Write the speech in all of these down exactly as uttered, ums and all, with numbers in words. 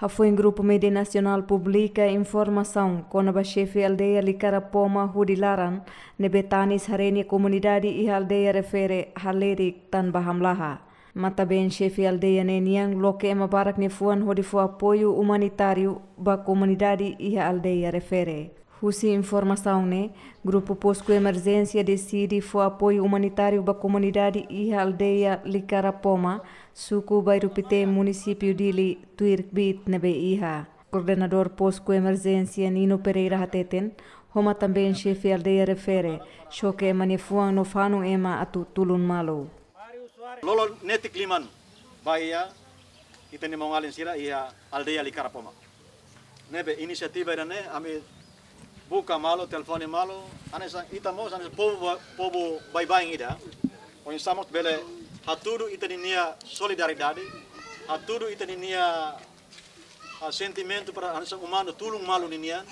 Hafoin grupu mídia nasionál publika informasaun kona-ba xefe aldeia Likara Poma hudi laran ne'ebé tanis haree nia komunidade iha aldeia refere halerik tanba hamlaha. Matan-been xefe aldeia ne'e nian loke ema barak nia fuan hodi fó apoiu umanitáriu ba komunidade iha aldeia refere. Husi informasaun ne'e, grupu Posku Emerjénsia deside fó apoiu umanitáriu ba komunidade iha aldeia Likara Poma, suku Bairru Pité, munisípiu Dili, tuir kbiit ne'ebé iha. Koordenadór Posku Emerjénsia Nino Pereira hateten, ho matan-been xefe aldeia refere, xoke ema nia fuan no fanun ema atu tulun malu. Lolo netik liman ba iha ita-nia maun-alin sira iha aldeia Likara Poma. Ne'ebé inisiativa ida-ne'e ami buka malu, telefone malu, hanesan ita mós hanesan povu ba-, povu baibain ida. Oinsá mós bele hatudu ita ninia solidariedade, hatudu ita ninia, ah, sentimentu para hanesan umanu tulun malu ninian,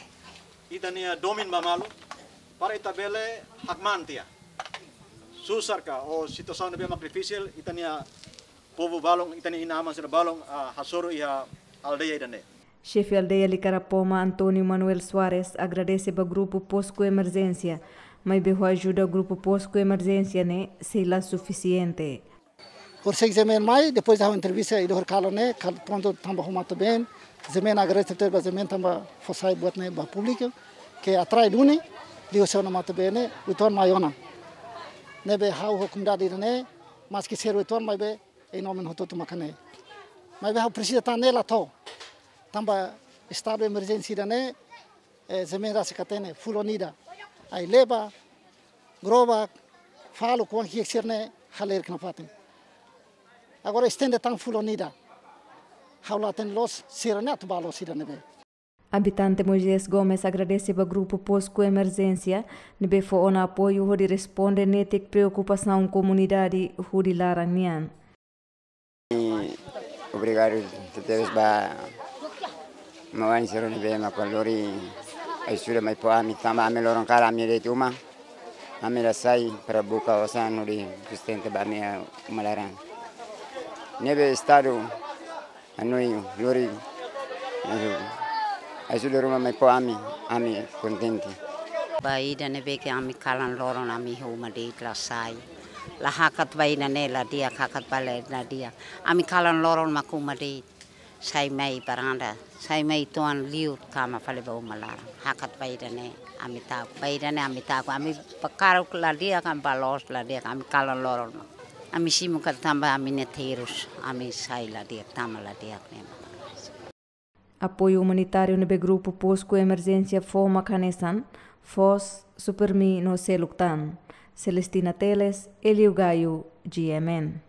ita-nia domin ba malu, para ita bele hakmaan tiha. Susar ka, ou situasaun ne'ebé mak difisil, ita-nia povu balun, ita-nia inan-aman sira balun, ah, hasoru iha aldeia ida-ne'e. Xefe aldeia Likara Poma, António Manuel Soares, agradese ba grupu Posku Emerjénsia, maibé ho ajuda grupu Posku Emerjénsia ne'e sei la sufisiente. Horisehik Zemen mai, depois da entrevista ida hori kalan ne'e, kal-, prontu tanba ho matan-been, Zemen agradese tebes ba Zemen tanba fó sai buat ne'e ba públiku, ke atrai duni, liuhosi ona matan-been ne'e, uitoan mai ona. Ne'ebé ha'u ho komunidade ida-ne'e, maski sira uitoan maibé, em nome hotu-hotu mak ne'e. Maibé ha'u presiza tan ne'e la to'o. Tanba estadu emerjénsia ida-ne'e, eh, Zemen rasik hatene, fulan ida. Ai-leba, grobak, faluk, oan ki'ik sira-ne'e halerik nafatin. Agora estende tan fulan ida. Ha'u la hatene loos, sira-ne'e atu bá loos ida ne'ebé. Abitante Moisés Gomes agradese ba grupu Posku Emerjénsia ne'ebé fó ona apoiu hodi responde netik preokupasaun komunidade hudi laran nian. Obrigadu tebes ba maun-alin sira ne'ebé mak lori ajuda mai fó ami tanba ami loron kalan ami de'it uma. Ami la sai para buka osan hodi sustenta ba ami uma laran. Ne'ebé estadu hanoin lori ajuda ruma mai fó ami, ami kontente. Ba ida ne'ebé ke ami kalan loron ami iha uma de'it la sai. La hakat ba ida-ne'e la di'ak, hakat ba laran la di'ak. Ami kalan loron mak uma de'it. Sai mai baranda, sai mai uitoan liu kama fali ba uma laran. Hakat ba ida-ne'e ami tauk. Ba ida-ne'e ami tauk. Ami bakaruk la di'ak, ami bá loos la di'ak, ami kalan loron. Ami simu katak tanba ami-nia terus, ami sai la di'ak, tama la di'ak ne'e. Apoiu umanitáriu ne'ebé grupu Posku Emerjénsia fó mak hanesan, foos, Supermi no seluk tan. Celestina Teles, Elio Gaio, G M N.